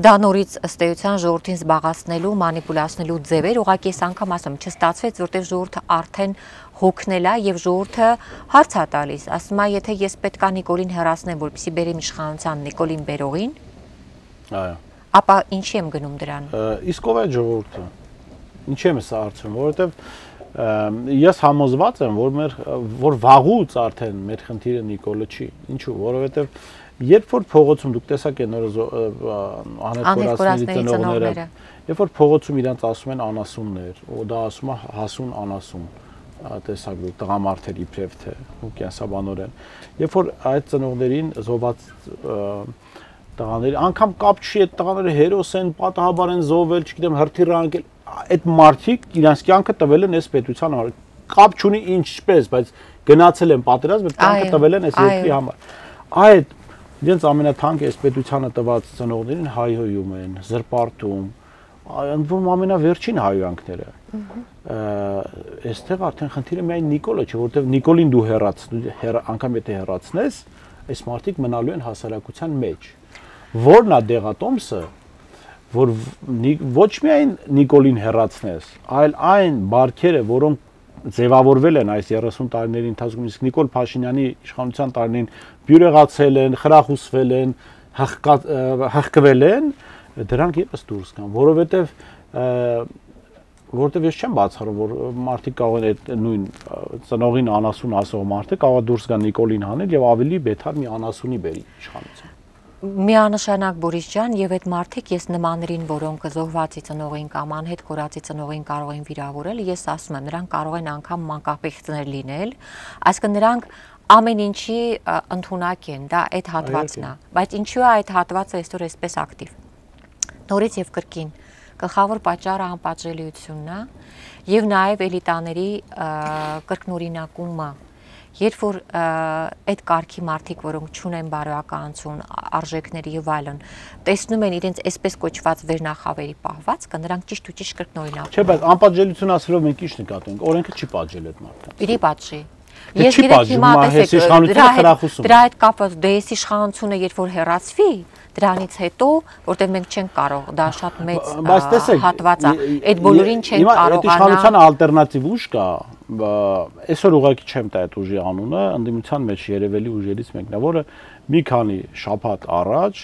դա նորից ըստ էության ժողովրդին զբաղացնելու, մանիպուլացնելու ձևեր, ուղղակի այս անգամ ասում, չստացվեց, որտեղ ժողովուրդը արդեն հոգնել է եւ ժողովուրդը հարց է տալիս, ասում է, եթե ես պետքա Նիկոլին հեռացնեմ, որպեսզի բերեմ իշխանության Նիկոլին բերողին, այո, ապա ինչի եմ գնում դրան։ Իսկ ով է ժողովուրդը։ Ինչի եմ սա հարցում, որովհետև ես համոզված եմ, որ մեր որ վաղուց արդեն մեր խնդիրը Նիկոլը չի։ Ինչու՞, որովհետև երբ որ փողոցում դուք տեսակ եք նոր Անետ Կորածների ծնողները, երբ որ փողոցում իրանց ասում են անասուններ, ու դա ասում է հասուն անասուն, տեսակ դուք տղամարդեր իբրև թե ու կենսաբանորեն, երբ որ այդ ծնողներին զոհված տղաների անգամ կապ չի այդ տղաները հերոս են, պատահաբար են զոհվել, չգիտեմ, հրթիռ անկել, այդ մարդիկ իրանց կյանքը տվել են այս պետության համար։ Կապ չունի ինչպես, բայց գնացել են պատերազմ, այդ կյանքը տվել են այս երկրի համար։ Այդ իրենց ամենաթանկ այս պետությանը տված ծնողներին հայհոյում են, զրպարտում, ընդվում ամենավերջին հայհոյանքները։ Այստեղ արդեն խնդիրը միայն Նիկոլը չէ, որովհետև Նիկոլին դու հեռացնես, անգամ եթե հեռացնես, այս մարդիկ մնալու են հասարակության մեջ։ Որն է դեղատոմսը, որ ոչ միայն Նիկոլին հեռացնես, այլ այն բարքերը, որոնք ձևավորվել են այս երեսուն տարիների ընթացքում, իսկ Նիկոլ Փաշինյանի իշխանության տարիներին բյուրեղացել են, խրախուսվել են, հղկվել են, դրանք եւս դուրս կան, որովհետեւ որովհետեւ ես չեմ բացառում, որ մարդիկ կարող են այդ նույն ծնողին անասուն ասող մարդը կարող դուրս գան Նիկոլին հանել եւ ավելի բեթար մի անասունի բերի իշխանության։ Միանշանակ Բորիս ջան, եւ այդ մարդիկ ես նմաններին, որոնք զոհվածի ծնողին կամ անհետ կորածի ծնողին կարող են վիրավորել, ես ասում եմ, նրանք կարող են անգամ մանկապեքներ լինել, այսինքն նրանք ամեն ինչի ընդունակ են, դա այդ հատվածն է, բայց ինչու է այդ հատվածը այսօր այսպես ակտիվ։ Նորից եւ կրկին գլխավոր պատճառը անպատժելիությունն է եւ նաեւ էլիտաների կրկնօրինակումը։ Երբ որ այդ կարգի մարդիկ, որոնք չունեն բարոյականություն, արժեքների եւ այլն, տեսնում են իրենց այսպես կոչված վերնախավերի պահվածքը, նրանք ճիշտ ու ճիշտ կրկնօրինակ։ Չէ, բայց անպատժելիություն ասելով մենք ինչ նկատենք, օրենքը չի պատժել այդ մարդկանց։ Իրի պատժի։ Ես գիտեք հիմա տեսեք դրա այդ կապը դե այս իշխանությունը երբ որ հեռացվի, դրանից հետո, որտեղ մենք չենք կարող, դա շատ մեծ հատված է, այդ բոլորին չենք կարողանա։ Այդ իշխանության ալտերնատիվ ուժ կա, այսօր ուղղակի չեմ տա այդ ուժի անունը, ընդդիմության մեջ երևելի ուժերից մեկն է, որը մի քանի շաբաթ առաջ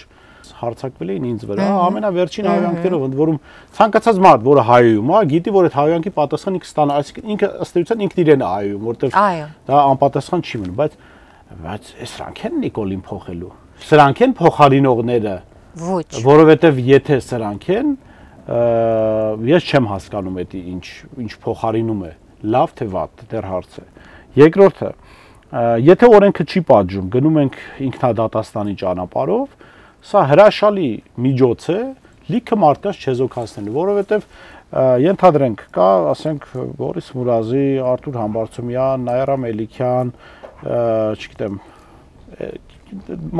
Հարցակվել էին ինձ վրա, ամենավերջին հայհոյանքներով, ընդ որում ցանկացած մարդ, որը հայոյում է, գիտի, որ այդ հայհոյանքի պատասխան ինքը ստանա, այսինքն ինքը ըստ էության ինքն իրեն է հայոյում, որտեղ դա անպատասխան չի մնում, բայց բայց սրանք են Նիկոլին փոխելու։ Սրանք են փոխարինողները։ Ոչ։ Որովհետև եթե սրանք են, ես չեմ հասկանում դա ինչ ինչ փոխարինում է, լավ թե վատ, դեռ հարց է։ Երկրորդը, եթե օրենքը չի պատժում, գնում ենք ինքնադատաստանի ճանապարհով, սա հրաշալի միջոց է լիքը մարդկանց չեզոքացնելու, որովհետև ենթադրենք կա, ասենք Բորիս Մուրազի, Արթուր Համբարձումյան, Նաիրա Մելիքյան, չգիտեմ,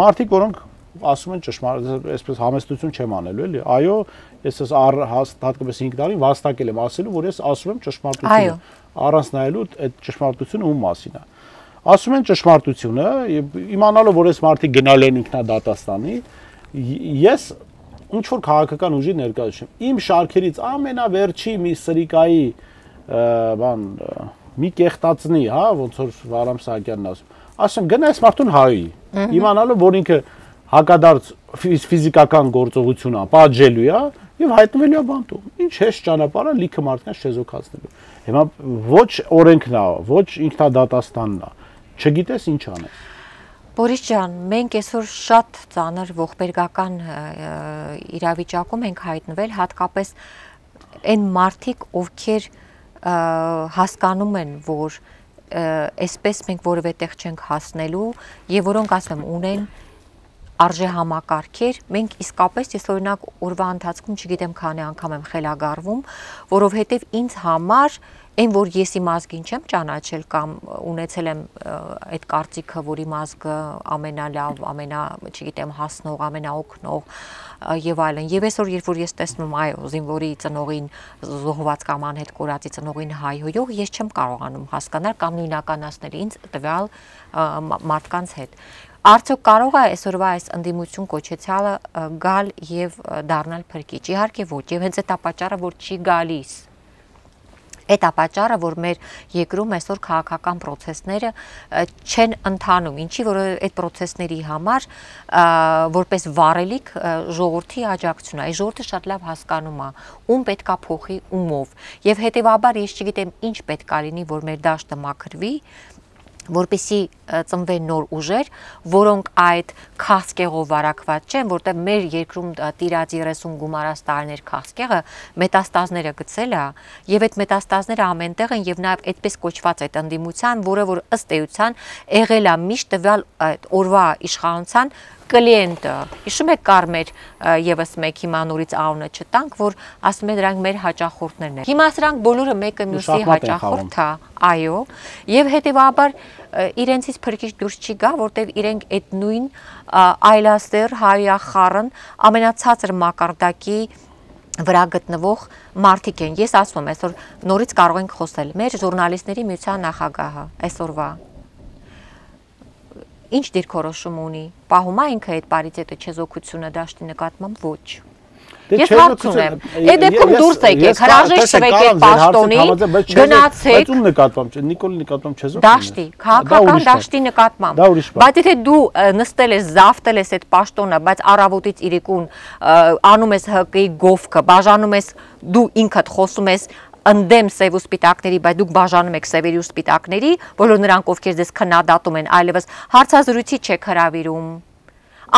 մարդիկ, որոնք ասում են ճշմարիտ, այսպես համեստություն չեմ անելու, էլի։ Այո, ես ես հատկապես հինգ տարի վաստակել եմ ասելու, որ ես ասում եմ ճշմարտությունը, առանց նայելու այդ ճշմարտությունը ում մասին է։ Ասում են ճշմարտությունը, իմանալով, որ այս մարդիկ գնալ են ինքնադատաստանի, ես ինչ որ քաղաքական ուժի ներկայացում։ Իմ շարքերից ամենավերջի մի սրիկայի բան մի կեղտածնի, հա, ոնց որ Վարամ Սահակյանն ասում։ Ասում գնա այս մարդուն հայի։ Իմանալով, որ ինքը հակադարձ ֆիզիկական գործողություն է, պատժելու է եւ հայտնվելու է բանտում։ Ինչ հեշտ ճանապարհ է լիքը մարդկանց չեզոքացնելու։ Հիմա ոչ օրենքն է, ոչ ինքնադատաստանն է։ Չգիտես ինչ անես։ Բորիս ջան, մենք այսօր շատ ծանր ողբերգական իրավիճակում ենք հայտնվել, հատկապես այն մարդիկ, ովքեր հասկանում են, որ այսպես մենք որևէ տեղ չենք հասնելու եւ որոնք ասեմ ունեն արժե համակարգեր, մենք իսկապես ես օրինակ օրվա ընթացքում չգիտեմ քանի անգամ եմ խելագարվում, որովհետեւ ինձ համար այն որ ես իմ ազգին չեմ ճանաչել կամ ունեցել եմ այդ կարծիքը, որ իմ ազգը ամենալավ, ամենա, չգիտեմ, հասնող, ամենաօգնող եւ այլն։ Եվ այսօր երբ որ ես տեսնում այո, զինվորի ծնողին զոհված կամ անհետ կորածի ծնողին հայհոյող, ես չեմ կարողանում հասկանալ կամ նույնականացնել ինձ տվյալ մարդկանց հետ։ Արդյոք կարող է այսօրվա այս ընդդիմություն կոչեցյալը գալ եւ դառնալ փրկիչ։ Իհարկե ոչ, եւ հենց այդ պատճառը, որ չի գալիս։ Այդ ապաճառը, որ մեր երկրում այսօր քաղաքական process-ները չեն ընթանում, ինչի որ այդ process-ների համար որպես վառելիք ժողովրդի աջակցություն է, այս ժողովուրդը շատ լավ հասկանում է, ում պետքա փոխի ումով, եւ հետեւաբար ես չգիտեմ ինչ պետքա լինի, որ մեր դաշտը մաքրվի, որպեսի ծնվեն նոր ուժեր, որոնք այդ քաղցկեղով վարակված չեն, որտեղ մեր երկրում տիրած երեսուն գումարած տարիներ քաղցկեղը մետաստազները գցել է, եւ այդ մետաստազները ամենտեղ են եւ նաեւ այդպես կոչված այդ ընդդիմության, որը որ ըստ էության եղել է միշտ տվյալ օրվա իշխանության կլիենտը։ Հիշում եք Կարմեր եւս մեկ հիմա նորից անունը չտանք, որ ասում են դրանք մեր հաճախորդներն են։ Հիմա սրանք բոլորը մեկը մյուսի հաճախորդ է, այո, եւ հետեւաբար իրենցից փրկիչ դուրս չի գա, որտեվ իրենք այդ նույն այլաստեր հայախառն ամենացածր մակարդակի վրա գտնվող մարդիկ են։ Ես ասում եմ, այսօր նորից կարող ենք խոսել մեր ժուրնալիստների միության նախագահը այսօրվա ինչ դիրքորոշում ունի, պահում է ինքը այդ պարիտետը չեզոքությունը դաշտի նկատմամբ ոչ։ Ես հարցում եմ, այդ դեպքում դուրս եկեք, հրաժեշտ տվեք այդ պաշտոնին, գնացեք։ Բայց ում նկատմամբ, Նիկոլի նկատմամբ չեզոքում։ Դաշտի, քաղաքական դաշտի նկատմամբ։ Բայց եթե դու նստել ես, զավթել ես այդ պաշտոնը, բայց առավոտից իրիկուն անում ես ՀԿ-ի գովքը, բաժանում ես, դու ինքդ խոսում ես ընդդեմ սև ու սպիտակների, բայց դուք բաժանում եք սևերի ու սպիտակների, բոլոր նրանք ովքեր ձեզ քննադատում են, այլևս հարցազրույցի չեք հրավիրում,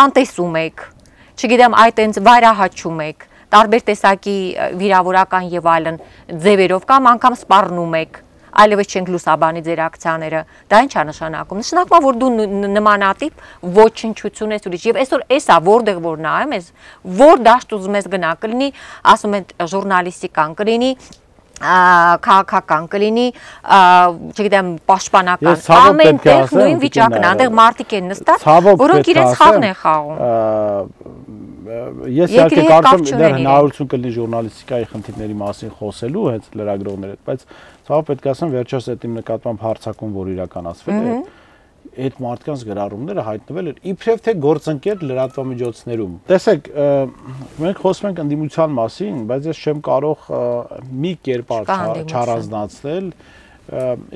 անտեսում եք, չգիտեմ, այդ այնց վայրահաչում եք, տարբեր տեսակի վիրավորական եւ այլն ձևերով կամ անգամ սպառնում եք, այլևս չենք լուսաբանի ձեր ակցիաները, դա ինչ է նշանակում։ Նշանակում է, որ դու նմանատիպ ոչնչություն ես ուրիշ։ Եվ այսօր էսա որտեղ որ նայում ես, որ դաշտ ուզում ես գնա, կլինի, ասում են ժուրնալիստիկան, կլինի քաղաքական կլինի, չգիտեմ, պաշտպանական, ամենտեղ նույն վիճակն է, այնտեղ մարդիկ են նստած, որոնք իրենց խաղն են խաղում։ Ես իհարկե կարծում եմ դեռ հնարավորություն կլինի ժուրնալիստիկայի խնդիրների մասին խոսելու հենց լրագրողների հետ, բայց ցավոք պետք է ասեմ, վերջերս այդ իմ նկատմամբ հարձակում, որ իրականացվել է, այդ մարդկանց գրառումները հայտնվել են իբրև թե գործընկեր լրատվամիջոցներում։ Տեսեք, մենք խոսում ենք ընդդիմության մասին, բայց ես չեմ կարող մի կերպար չառանձնացնել։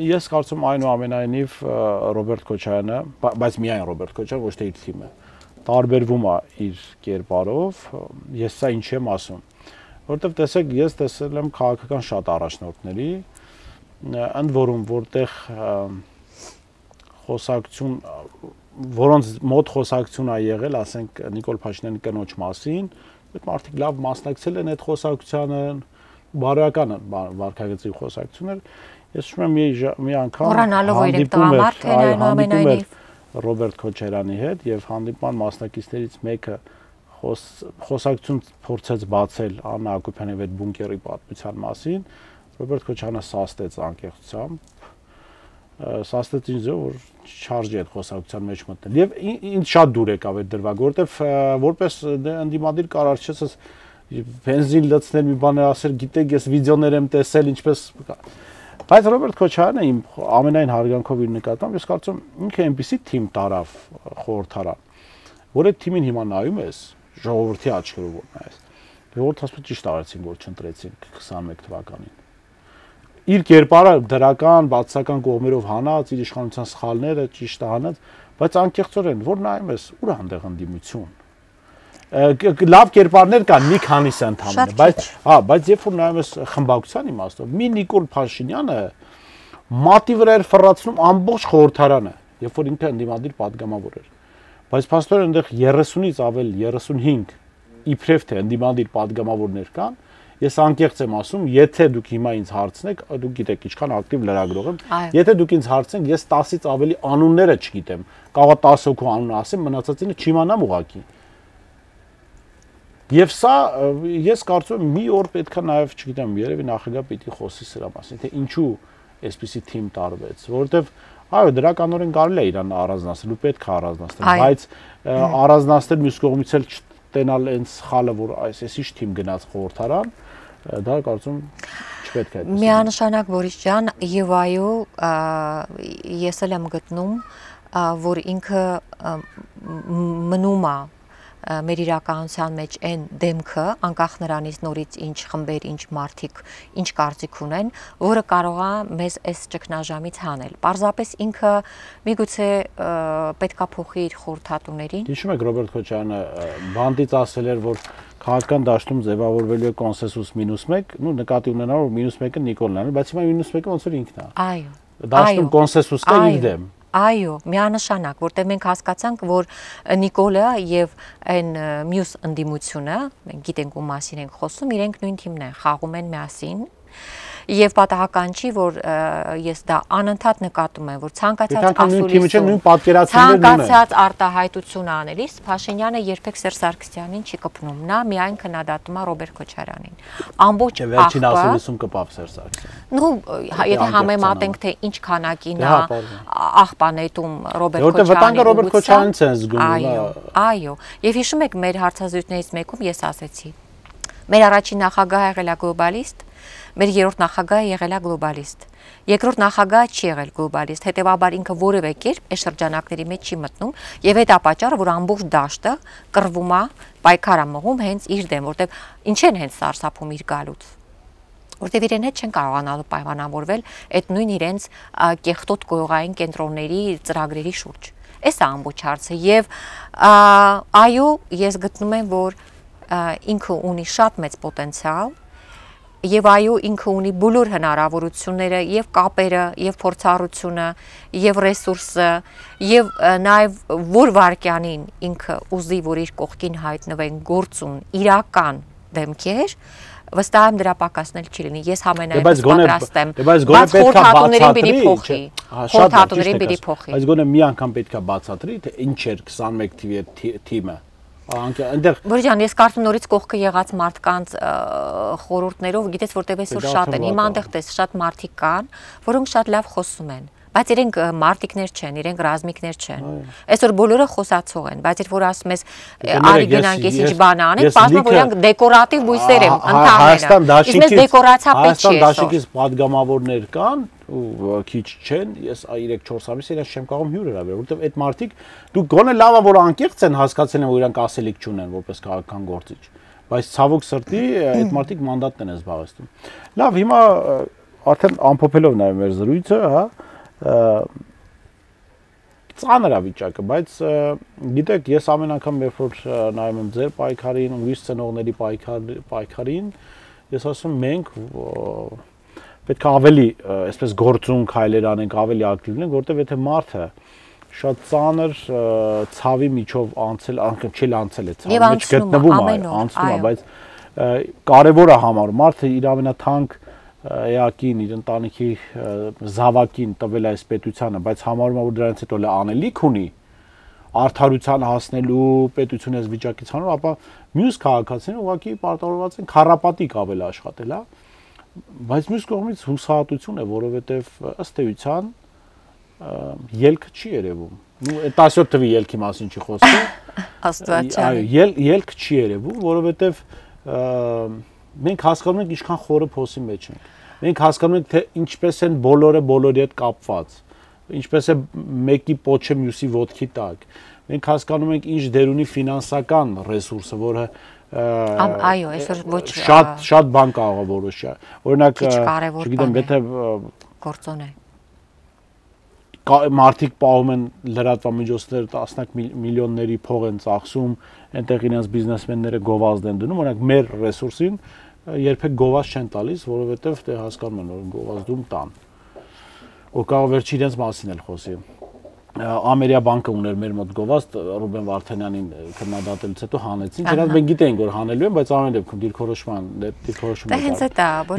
Ես կարծում այնուամենայնիվ Ռոբերտ Քոչարյանը, բայց միայն Ռոբերտ Քոչարյանը, ոչ թե իր թիմը, տարբերվում է իր կերպարով, ես սա ինչ եմ ասում, որովհետև տեսեք, ես տեսել եմ քաղաքական շատ առաջնորդների, ընդ որում որտեղ խոսակցություն, որոնց մոտ խոսակցություն է եղել, ասենք Նիկոլ Փաշինյանի կնոջ մասին, այդ մարդիկ լավ մասնակցել են այդ խոսակցությանը, բարոյական վարքագծի խոսակցություններ, ես հիշում եմ մի մի անգամ հանդիպում էր Ռոբերտ Քոչարյանի հետ եւ հանդիպման մասնակիցներից մեկը խոսակցություն փորձեց բացել Աննա Հակոբյանի հետ բունկերի պատմության մասին, Ռոբերտ Քոչարյանը սաստեց անկեղծությամբ, սաստեց ինձ, որ չարժի այդ խոսակցության մեջ մտնել։ Եվ ինձ շատ դուր եկավ այդ դրվագը, որովհետեւ որպես ընդդիմադիր կարար չես բենզին լցնել մի բան ասել, գիտեք, ես վիդեոներ եմ տեսել, ինչպես Բայց Ռոբերտ Քոչարյանը իմ ամենայն հարգանքով իր նկատմամբ, ես կարծում ինքը այնպեսի թիմ տարավ խորհրդարան, որ այդ թիմին հիմա նայում ես, ժողովրդի աչքերով որ նայես, ժողովուրդը ասում է ճիշտ արեցին, որ չընտրեցին քսանմեկ թվականին։ Իր կերպարը դրական, բացական կողմերով հանած, իր իշխանության սխալները ճիշտ հանած, բայց անկեղծորեն, որ նայում ես, ուր է այնտեղ ընդդիմություն։ Լավ կերպարներ կան մի քանիսը ընդհանրապես, բայց հա, բայց երբ որ նայում ես խմբակցության իմաստով, մի Նիկոլ Փաշինյանը մատի վրա էր ֆռացնում ամբողջ խորհրդարանը, երբ որ ինքը ընդդիմադիր падգամավոր էր։ Բայց փաստորեն այնտեղ երեսունից ավել երեսունհինգ իբրև թե ընդդիմադիր падգամավորներ կան, ես անկեղծ եմ ասում, եթե դուք հիմա ինձ հարցնեք, դուք գիտեք ինչքան ակտիվ լրագրող եմ, եթե դուք ինձ հարցնեք, ես տասից ավելի անունները չգիտեմ, կարող է տասը հոգու անուն ասեմ, մնացածինը չիմանամ ուղղակի։ Եվ սա ես կարծում եմ մի օր պետքա նաև, չգիտեմ, երևի նախագահ պիտի խոսի սրա մասին, թե ինչու այսպիսի թիմ տարվեց, որովհետև այո, դրականորեն կարելի է իրան առանձնացնել ու պետք է առանձնացնել, բայց առանձնացնել մյուս կողմից էլ չտենալ այն սխալը, որ այսպես թիմ գնաց խորհրդարան, դա կարծում չպետք է այդպես։ Միանշանակ Բորիս ջան, եւ այո, ես էլ եմ գտնում, որ ինքը մնում է մեր իրականության մեջ այն դեմքը, անկախ նրանից նորից ինչ խմբեր, ինչ մարդիկ, ինչ կարծիք ունեն, որը կարող է մեզ այս ճգնաժամից հանել։ Պարզապես ինքը միգուցե պետքա փոխի իր խորհրդատուներին։ Հիշում եք Ռոբերտ Քոչարյանը բանդից ասել էր, որ քաղաքական դաշտում ձևավորվելու է կոնսենսուս մինուս մեկ, ну նկատի ունենալով որ մինուս մեկը Նիկոլն է, բայց հիմա մինուս մեկը ոնց որ ինքն է։ Այո։ Դաշտում կոնսենսուս կա իր դեմ։ Այո, միանշանակ, որտեղ մենք հասկացանք, որ Նիկոլը եւ այն մյուս ընդդիմությունը, մենք գիտենք ում մասին ենք խոսում, իրենք նույն թիմն են, խաղում են միասին։ Եվ պատահական չի, որ ես դա անընդհատ նկատում եմ, որ ցանկացած ասուլիսում, ցանկացած արտահայտություն անելիս Փաշինյանը երբեք Սերժ Սարգսյանին չի կպնում, նա միայն քննադատում է Ռոբերտ Քոչարյանին։ Ամբողջ վերջին ասուլիսում կպավ Սերժ Սարգսյանը։ Ну, եթե համեմատենք, թե ինչ քանակին է աղբանետում Ռոբերտ Քոչարյանը։ Որտեղ վտանգը Ռոբերտ Քոչարյանից են զգում։ Այո, այո։ Եվ հիշում եք մեր հարցազրույցներից մեկում ես ասեցի. մեր առաջին նախագահը եղել է գլոբալիստ, մեր երրորդ նախագահը եղել է գլոբալիստ։ Երկրորդ նախագահը չի եղել գլոբալիստ, հետևաբար ինքը որևէ կերպ այս շրջանակների մեջ չի մտնում, եւ այդ է պատճառը, որ ամբողջ դաշտը կռվում է, պայքար է մղում հենց իր դեմ, որտեվ ինչ են հենց սարսափում իր գալուց։ Որտեվ իրեն հետ չեն կարողանալու պայմանավորվել այդ նույն իրենց կեղտոտ գյուղային կենտրոնների ծրագրերի շուրջ։ Այս է ամբողջ հարցը եւ այո, ես գտնում եմ, որ ինքը ունի շատ մեծ պոտենցիալ եւ այո ինքը ունի բոլոր հնարավորությունները եւ կապերը եւ փորձառությունը եւ ռեսուրսը եւ նաեւ որ վարքյանին ինքը ուզի որ իր կողքին հայտնվեն գործուն իրական դեմքեր վստահ եմ դրա պակասնել չի լինի ես համենայնպես պատրաստ եմ բայց խորհրդատուներին պիտի փոխի խորհրդատուներին պիտի փոխի բայց գոնե մի անգամ պետքա բացատրի թե ինչ էր քսանմեկ թվի թիմը Բորիս ջան, ես կարծում նորից կողքը եղած մարդկանց խորհուրդներով, գիտես որտեղ այսօր շատ են, հիմա այնտեղ տես շատ մարդիկ կան, որոնք շատ լավ խոսում են, բայց իրենք մարտիկներ չեն, իրենք ռազմիկներ չեն։ Այսօր բոլորը խոսացող են, բայց երբ որ ասում ես արի գնանք ես ինչ բան անենք, բազմը որ իրանք դեկորատիվ բույսեր են, ընդհանրապես։ Իսկ մեզ դեկորացիա պետք չի։ Հայաստան դաշինքից падգամավորներ կան ու քիչ չեն, ես երեք-չորս ամիս իրաց չեմ կարող հյուր հրավիրել, որովհետև այդ մարդիկ դու գոնե լավա որ անկեղծ են հասկացել են որ իրանք ասելիք չունեն որպես քաղաքական գործիչ, բայց ցավոք սրտի այդ մարդիկ մանդատն են զբաղեցնում։ Լավ, հիմա արդեն ամփոփելով նաև մեր զրույցը, հա, ծանր է վիճակը, բայց գիտեք, ես ամեն անգամ երբ որ նայում եմ ձեր պայքարին, ուրիշ ծնողների պայքարին, ես ասում մենք պետք է ավելի այսպես գործուն քայլեր անենք, ավելի ակտիվ լինենք, որտեղ եթե մարդը շատ ծանր ցավի միջով անցել, անգամ չի անցել է ցավի մեջ գտնվում է, անցնում է, բայց կարևոր է համարում մարդը իր ամենաթանկ էակին, իր ընտանիքի զավակին տվել այս պետությանը, բայց համարում է որ դրանից հետո լա անելիք ունի արդարության հասնելու պետությունը այս վիճակից հանու, ապա մյուս քաղաքացիները ուղղակի պարտավորված են քառապատիկ ավել աշխատել, հա, բայց մյուս կողմից հուսահատություն է, որովհետև ըստ էության ելքը չի երևում։ Նու տասնյոթ թվի ելքի մասին չի խոսքը։ Աստվածային։ Այո, ելք չի երևում, որովհետև մենք հասկանում ենք ինչքան խորը փոսի մեջ ենք։ Մենք հասկանում ենք թե ինչպես են բոլորը բոլորի հետ կապված, ինչպես է մեկի պոչը մյուսի ոտքի տակ։ Մենք հասկանում ենք ինչ դեր ունի ֆինանսական ռեսուրսը, որը այո, այսօր ոչ շատ շատ բան կարող է որոշի։ Օրինակ, չգիտեմ, եթե գործոն է մարդիկ պահում են լրատվամիջոցներ տասնյակ միլիոնների փող են ծախսում, այնտեղ իրենց բիզնեսմենները գովազդ են դնում, օրինակ մեր ռեսուրսին երբեք գովազդ չեն տալիս, որովհետև դե հասկանում են, որ գովազդում տան։ Ու կարող վերջի իրենց մասին էլ խոսի։ Ամերիա բանկը ուներ մեր մոտ գովազդ, Ռուբեն Վարդանյանին քննադատելուց հետո հանեցին։ Չնայած մենք գիտեինք, որ հանելու են, բայց ամեն դեպքում դիրքորոշման դիրքորոշումը։ Դա հենց է,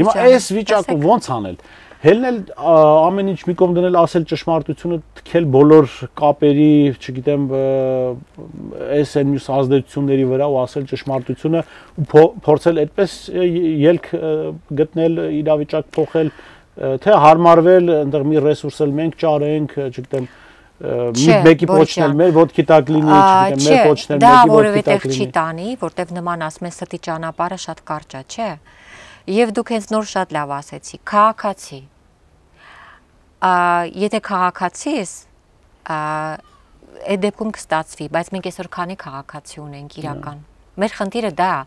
Հիմա այս վիճակը ոնց անել։ Հելնել ամեն ինչ մի կողմ դնել, ասել ճշմարտությունը, թքել բոլոր կապերի, չգիտեմ, այս այն մյուս ազդեցությունների վրա ու ասել ճշմարտությունը ու փորձել այդպես ելք գտնել, իրավիճակ փոխել, թե հարմարվել, այնտեղ մի ռեսուրս էլ մենք ճարենք, չգիտեմ, մեկի պոչն էլ մեր ոտքի տակ լինի, չգիտեմ, մեր պոչն էլ մեկի ոտքի տակ լինի։ Դա որովհետև չի տանի, որտեվ նման ասում են ստի ճանապարհը շատ կարճ է, չէ՞։ Եվ դուք հենց նոր շատ լավ ասեցի, քաղաքացի։ Եթե քաղաքացի ես, այդ դեպքում կստացվի, բայց մենք այսօր քանի քաղաքացի ունենք իրական։ Մեր խնդիրը դա է,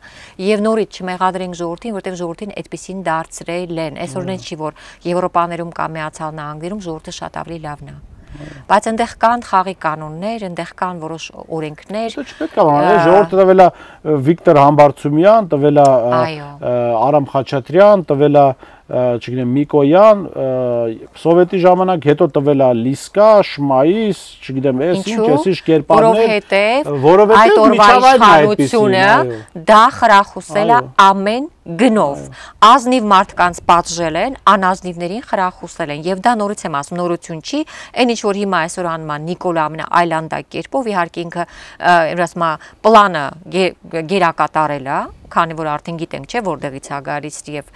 եւ նորից չմեղադրենք ժողովրդին, որտեղ ժողովրդին այդպեսին դարձրել են։ Այսօրն չի, որ Եվրոպաներում կամ Միացյալ Նահանգներում ժողովուրդը շատ ավելի լավն է։ Բայց այնտեղ կան խաղի կանոններ, այնտեղ կան որոշ օրենքներ։ Դա չպետք է բանալ, ժողովուրդը տվել է Վիկտոր Համբարձումյան, տվել է Արամ Խաչատրյան, տվել է, չգիտեմ, Միկոյան, սովետի ժամանակ հետո տվել է Լիսկա, Շմայիս, չգիտեմ, այս ինչ, այս ինչ կերպարներ, որովհետև այդ օրվա իշխանությունը դա խրախուսել է ամեն գնով, ազնիվ մարդկանց պատժել են, անազնիվներին խրախուսել են, եւ դա նորից եմ ասում, նորություն չի, այն ինչ որ հիմա այսօր անում է Նիկոլա ամենաայլանդակ կերպով, իհարկե ինքը ասում է պլանը գերակատարել է, քանի որ արդեն գիտենք, չէ, որտեղից է գալիս եւ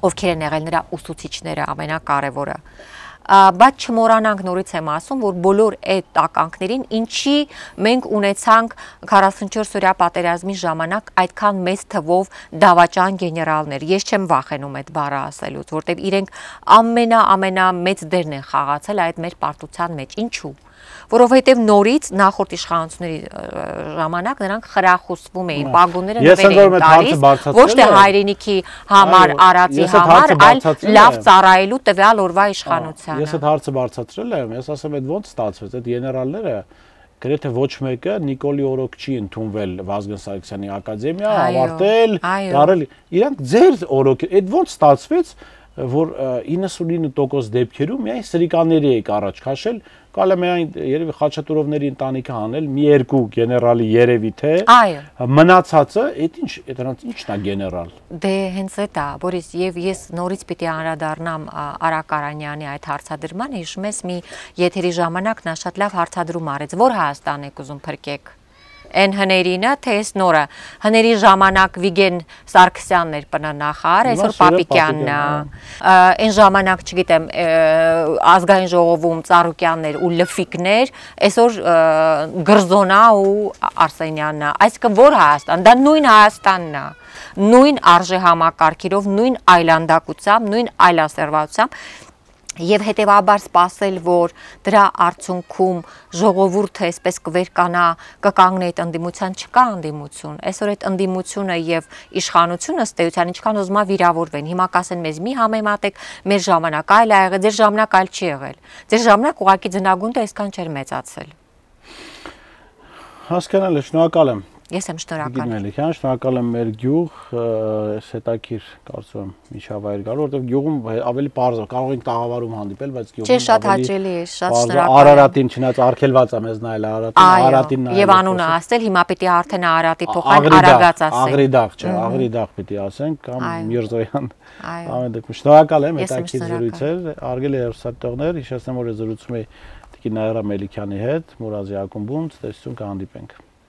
ովքեր են եղել նրա ուսուցիչները ամենակարևորը։ Բայց չմոռանանք, նորից եմ ասում, որ բոլոր այդ տականքներին ինչի մենք ունեցանք քառասունչորս օրյա պատերազմի ժամանակ այդքան մեծ թվով դավաճան գեներալներ։ Ես չեմ վախենում այդ բառը ասելուց, որտեղ իրենք ամենա ամենամեծ դերն են խաղացել այդ մեր պարտության մեջ։ Ինչու՞։ Որովհետև նորից նախորդ իշխանությունների ժամանակ նրանք խրախուսվում էին, պագոնները նվեր էին տալիս, ոչ թե հայրենիքի համար, արածի համար, այլ լավ ծառայելու տվյալ օրվա իշխանությանը։ Ես այդ հարցը բարձրացրել եմ, ես ասեմ, այդ ոնց ստացվեց, այդ գեներալները գրեթե ոչ մեկը Նիկոլի օրոք չի ընդունվել Վազգեն Սարգսյանի ակադեմիա, ավարտել, դարել, իրանք ձեր օրոք, այդ ոնց ստացվեց, որ իննսունինը տոկոս դեպքերում միայն սրիկանների եք առաջ քաշել, կարելի է միայն երևի Խաչատուրովների ընտանիքը հանել, մի երկու գեներալի երևի թե, մնացածը, այդ ինչ, դրանց ի՞նչն է գեներալ։ Դե հենց այդ է, Բորիս, եւ ես նորից պիտի անդրադառնամ Արա Կարանյանի այդ հարցադրմանը, հիշում ես մի եթերի ժամանակ նա շատ լավ հարցադրում արեց, որ Հայաստան եք ուզում փրկեք։ Այն հներինը, թե այս նորը, հների ժամանակ Վիգեն Սարգսյանն էր պնանախար, այսօր Պապիկյանն է, այն ժամանակ, չգիտեմ, ազգային ժողովում Ծառուկյաններ ու Լֆիկներ, այսօր Գրզոնա ու Արսենյանն է, այսինքն որ Հայաստան, դա նույն Հայաստանն է, նույն արժե համակարգերով, նույն այլանդակությամբ, նույն այլասերվածությամբ, Եվ հետևաբար սпасել, որ դրա արդյունքում ժողովուրդը այսպես կվերկանա, կկանգնի այդ ընդդիմության, չկա ընդդիմություն։ Այսօր այդ ընդդիմությունը եւ իշխանությունը ըստ էության ինչքան ուզում է վիրավորվեն։ Հիմա կասեն մեզ մի համեմատեք, մեր ժամանակ այլ ա եղել, ձեր ժամանակ այլ չի եղել։ Ձեր ժամանակ ուղղակի ձնագունդը այսքան չէր մեծացել։ Հասկանալի, շնորհակալ եմ։ Ես եմ շնորհակալ։ Գիտմելիքյան, շնորհակալ եմ մեր գյուղ, այս հետաքրքիր կարծում եմ միջավայր գալու, որովհետև գյուղում ավելի պարզ է, կարող ենք տաղավարում հանդիպել, բայց գյուղում Չէ, շատ հաճելի է, շատ շնորհակալ եմ։ Արարատին չնայած արգելված է մեզ նայել Արարատին, Արարատին նայել։ Եվ անունը ասել, հիմա պիտի արդեն Արարատի փոխարեն Արագած ասենք։ Աղրիդաղ, չէ, Աղրիդաղ պիտի ասենք կամ Միրզոյան։ Ամեն դեպքում շնորհակալ եմ, հետաքրքիր զրույց էր, արգելի հեռուստատողներ, հիշեցնեմ, որ զրուցում էի Տիկին Նաիրա Մելիքյանի հետ, Մուրազի ակումբում, ցտեսություն կհանդիպենք։